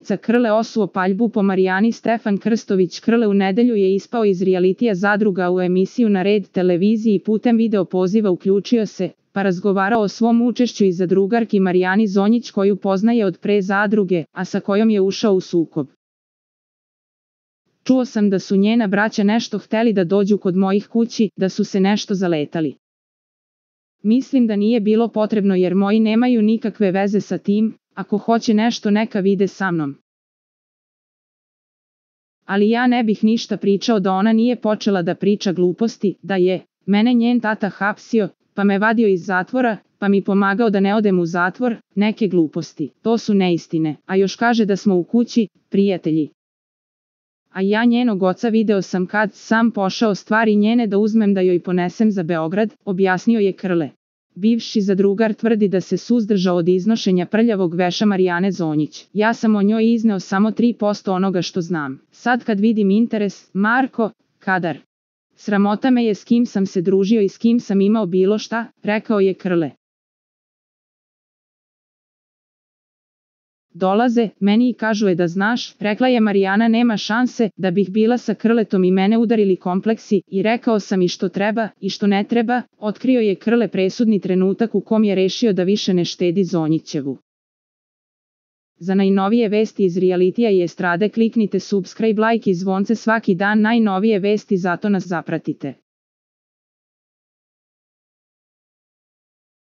Za Krle osuo paljbu po Marijani. Stefan Krstović Krle u nedelju je ispao iz realitija Zadruga u emisiju na Red televiziji i putem video poziva uključio se, pa razgovarao o svom učešću i zadrugarki Marijani Zonjić koju poznaje od pre Zadruge, a sa kojom je ušao u sukob. Čuo sam da su njena braća nešto hteli da dođu kod mojih kući, da su se nešto zaletali. Mislim da nije bilo potrebno jer moji nemaju nikakve veze sa tim, ako hoće nešto neka vide sa mnom. Ali ja ne bih ništa pričao da ona nije počela da priča gluposti, da je mene njen tata hapsio, pa me vadio iz zatvora, pa mi pomagao da ne odem u zatvor, neke gluposti. To su neistine, a još kaže da smo u kući, prijatelji. A ja njenog oca video sam kad sam pošao stvari njene da uzmem da joj ponesem za Beograd, objasnio je Krle. Bivši zadrugar tvrdi da se suzdržao od iznošenja prljavog veša Marijane Zonjić. Ja sam o njoj izneo samo 3% onoga što znam. Sad kad vidim interes, Marko, kadar. Sramota me je s kim sam se družio i s kim sam imao bilo šta, rekao je Krle. Dolaze, meni i kažu da znaš, rekla je Marijana nema šanse, da bih bila sa Krletom i mene udarili kompleksi, i rekao sam i što treba, i što ne treba, otkrio je Krle presudni trenutak u kom je rešio da više ne štedi Zonjićevu. Za najnovije vesti iz realitija i estrade kliknite subscribe, like i zvonce svaki dan najnovije vesti zato nas zapratite.